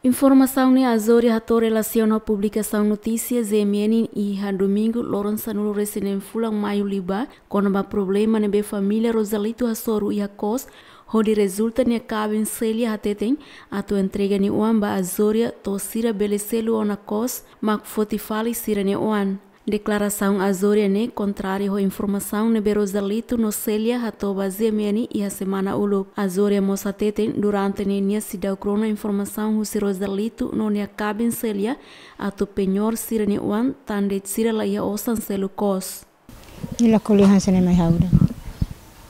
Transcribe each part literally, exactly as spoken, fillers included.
Informasaun ne'e Azória hato'o relasiona ho publikasaun notísia G M N iha domingu loron sanulu resin neen fulan Maiu liubá, kona-ba problema ne'ebé família Rosalito hasoru iha kos, hodi rezulta nia kaben Célia hateten atu entrega nia oan ba Azória to'o sira bele selu ona kos mak foti fali sira-nia oan. Deklarasaun Azória ne'e kontráriu ho informasaun ne'ebé Rosalito no Célia hato'o ba G M N iha semana uluk. Azória mós hateten durante ne'e nia seidauk rona informasaun husi Rosalito no nia kaben Célia atu penhor sira-nia oan, tan de'it sira la iha osan selu kos. Nia la ko'alia hanesan ne'e mai ha'u de'it.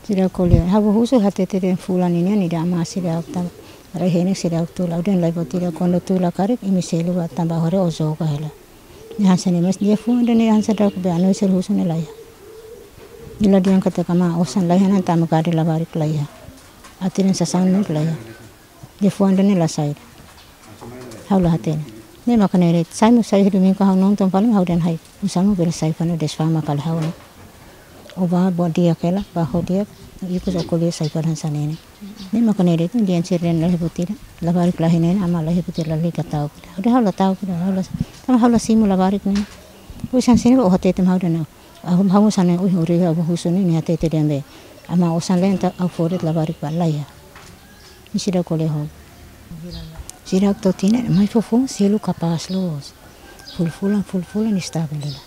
Seidauk ko'alia. Ha'u husu hateten fulan ne'e nia, nia dehan amá seidauk tama. Rai-henek seidauk tula. Ha'u dehan lae buat ida, kuandu tula karik imi selu ba tanba agora ó joga hela. Nia hanesan ne'e, mas nia fó dehan nia hanesan daudauk be, ha'u seidauk husu nia la iha. Nia la dehan katak amá osan la iha, ne'e tama gade labarik la iha. Atiran sasán mak la iha. Nia fó dehan nia la sai. Ha'u la hatene. Ne'e maka ne'e de'it, sai mós sai domingu ha'u nonton fali, ha'u dehan ha'u. Oinsá mak bele sai fali desfama fali ha'u ne'e. Ó bá buat di'ak hela, bá ho di'ak, ikus ó ko'alia sai fali hanesan ne'e. Ne'e maka ne'e de'it, dehan sira dehan la iha buat ida, labarik la iha ne'e, amá la iha buat ida, lalika ta'uk ida. Ha'u dehan ha'u la ta'uk ida, ha'u la, tanba ha'u la simu labarik ne'e. Pois hanesan ne'e ó hateten ha'u dehan. Ha'u, ha'u hanesan ne'e, ui, uri, ha'u husu ne'e, nia hateten dehan be. Amá osan la iha, entaun ha'u fó de'it labarik ba la iha. Nia seidauk ko'alia ho. Seidauk to'o tinan, mai foufoun selu kapás loos. Fulan-fulan, fulan-fulan estavel hela.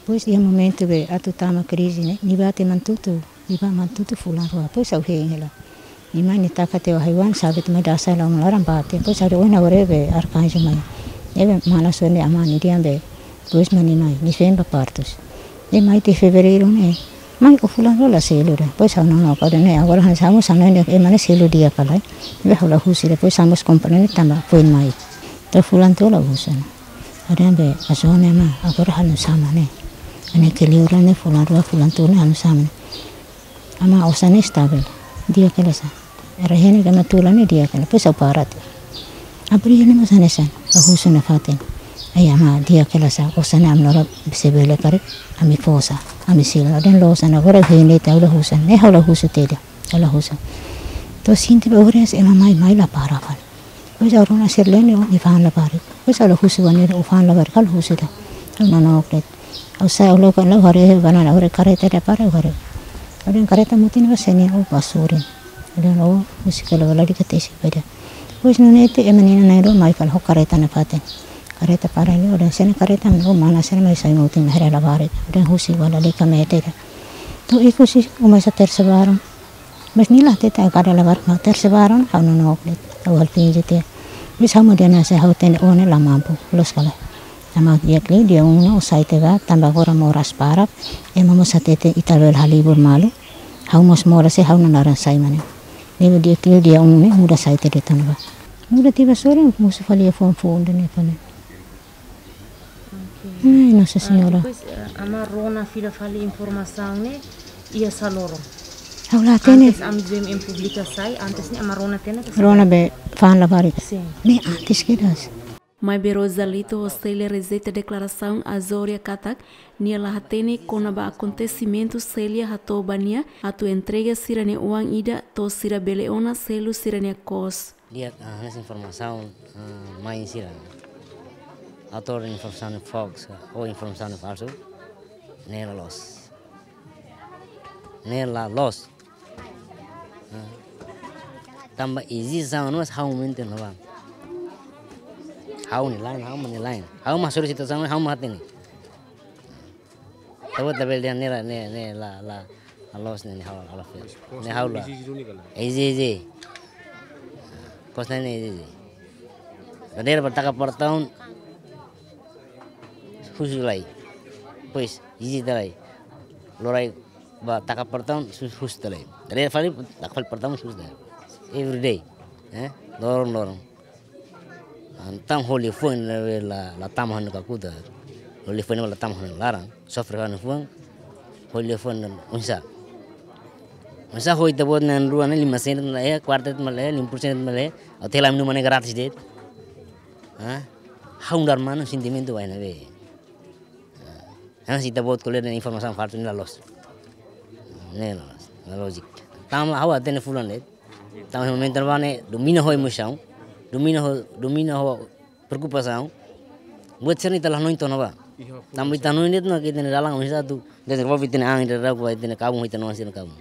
Pois iha momentu be atu tama krize ne'e, nia bá tiha Manatutu, nia bá Manatutu fulan rua, pois ha'u hein hela. Nia mai nia taka tiha haiwan, sabit mai dasa hela ona laran bá tiha, pois ha'u dehan ohin agora be Arkanju mai. Ne'ebé mana sone amá nia dehan be, pois mak nia mai, nia feen ba Partus. Nia mai tiha Fevereiru ne'e, mai ó fulan rua la selu de'it. Pois ha'u nonook, ha'u dehan ne'e, agora hanesan ha'u mós hanoin dehan ema ne'e selu di'ak ka lae. Be ha'u la husu de'it, pois ha'u mós komprende tanba foin mai. To'o fulan tolu la husu ona. Ha'u dehan be, Azória ne'e amá, agora halo nu'usá mak ne'e. Ne'e ke liur ne'e fulan rua fulan tolu ne'e halo nu'usá mak ne'e. Amá osan ne'e estavel. Di'ak hela sá. Rai-henek ema tula ne'e di'ak hela. Pois ha'u para tiha. Abril ne'e mós hanesan. Ha'u husu nafatin. Ai amá di'ak hela sá. Osan ne'e ami na'in-rua sei bele karik. Ami fó sá. Ami selu. Ha'u dehan loos ona agora hein de'it ha'u la husu. Ne'e ha'u la husu tiha de'it. Ha'u la husu. To'o sente be oras ema mai, mai la para fali. Pois ha'u rona sira-ne'e nia fa'an labarik. Pois ha'u la husu ba nia ó fa'an labarik, ha'u la husu de'it. Ha'u nonook de'it. Ha'u sai ha'u loke ha'u haree ba nia, ha'u haree kareta ida para ha'u haree. Ha'u dehan kareta mutin ba sene ó ba sorin. Ha'u dehan ó husi kala bala di katesi ba ida. Pois nune'e tiha ema na'in-rua mai fali ho kareta nafatin. Kareta para ne'e ha'u dehan sene kareta mak ne'e ó mana sira mai sai mutin haree labarik. Ha'u dehan husi bala di kamete ida. To'o ikus ó mai sa tersa baron. Mas nia la hatete karik labarik mak tersa baron, ha'u nonook de'it, ha'u halo finje tiha. Mas ha'u mak dehan hanesan ha'u hatene ó ne'e la mampu, loos ka lae. Tanba di'ak liu, dia unu ó sai tiha bá, tanba agora moras barak, ema mós hatete ita labele halibur malu, ha'u mós moras sei ha'u nanaran sai mak ne'e. Ne'ebé di'ak liu, dia unu ne'e muda sai tiha de'it ona bá. Muda tiha bá sorin, mosu fali iha fuan-fuan ida-ne'e fali. Oke. Ai, Nossa Senhora. Ah, depois, eh, amá rona fila fali informasaun ne'e iha sá loron? Ha'u la hatene. Antes ami G M N publika sai, antes ne'e amá rona tiha ona ka? Rona be fa'an labarik. Sin. Ne'e antes kedas. Maibé Rosalito ho Célia rejeita deklarasaun Azória katak nia la hatene kona-ba akontesimentu Célia hato'o ba nia atu entrega sira-nia oan ida to'o sira bele ona selu sira-nia kos. Di'ak, ah, hanesan informasaun, ah, mai sira. Autór informasaun hoax, ou informasaun falsu. Ne'e la loos. Ne'e la loos. Ah. Tanba eziste, ha'u mós ha'u menten no bang. Ha'u nia laen, ha'u nia laen. Ha'u mak soru situasaun, ha'u mak hatene. Ita-boot labele dehan ne'e la, ne'e, ne'e la, la, la loos ne'e, ne'e ha'u la, la feel. Ne'e ha'u la. Eziste, eziste. Kos ne'e, ne'e eziste. Dadeer bá taka portaun, husu lai. Pois, eziste lai. Loraik bá taka portaun, husu, husu lai. Dadeer fali, taka fali portaun, husu lai. Every day. Eh? Loron, loron. Entaun ho liafuan la, la, la tama ha'u-nia kakutak. Ho liafuan la tama ha'u-nia laran. Sofre ha'u-nia fuan. Ho liafuan oinsá. Oinsá ho ita-boot na'in-rua ne'e lima sen mak la iha, kuarta mak la iha, lima puluh sen mak la iha. Ha'u tela minu mane gratis de'it. Ha? Ha'u-nia manu sentimentu bainhira be. Hanesan ita-boot ko'alia dehan informasaun falsu ne'e la loos. Ne'e la loos, la lójika. Tanba ha'u hatene fulan de'it. Tanba momentu ne'ebá ne'e domina ho emosaun. Domina ho, domina ho preokupasaun. Buat sira-ne'e ita la hanoin to'o ona ba. Tanba ita hanoin de'it ona katak ita-nia dalan oinsá atu dezenvolve ita-nia an, ita-nia kabun, ita-nia kabun.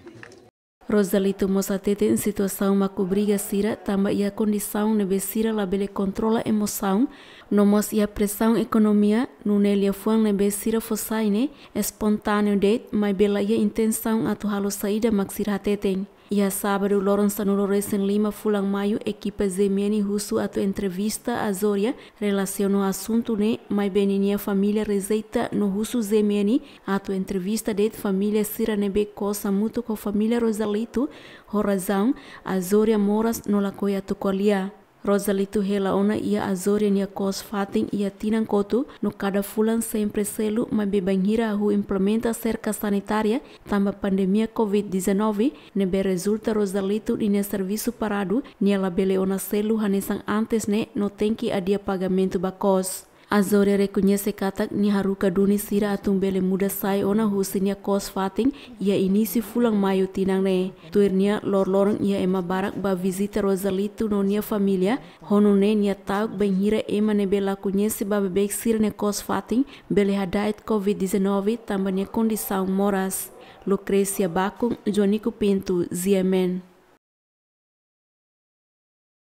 Rosalito mós hateten situasaun mak obriga sira tanba iha kondisaun ne'ebé sira labele kontrola emosaun, no mós iha presaun ekonomia, nune'e liafuan ne'ebé sira fó sai ne'e espontáneu de'it, maibé la iha intensaun atu halo saida mak sira hateten. Iha sábadu loron sanulu resin lima fulan Maiu, ekipa Z M N husu atu entrevista Azoria relasiona ho asuntu ne'e, maibé ninia família rejeita no husu Z M N atu entrevista de'it família sira ne'ebé kos hamutuk ho família Rosalito, ho razaun Azoria moras no lakohi atu ko'alia. Rosalito hela ona iha Azoria nia kos fatin iha tinan kotuk, no kada fulan sempre selu, maibé bainhira hahú implementa serka sanitária tanba pandemia covid dezanove, ne'ebé rezulta Rosalito ninia servisu paradu, nia labele ona selu hanesan antes ne'e no tenke adia pagamentu ba kos. Azoria rekoñese katak nia haruka duni sira atu bele muda sai ona husi nia kos fatin iha inísiu fulan Maiu tinan ne'e. Tuir nia, loroloron iha ema barak bá vizita Rosalito no nia família, ho nune'e nia ta'uk bainhira ema ne'ebé la koñese ba beibeik sira-nia kos fatin bele hada'et covid dezanove tanba nia kondisaun moras. Lucrecia Bacon, Joanico Pinto, Z M N.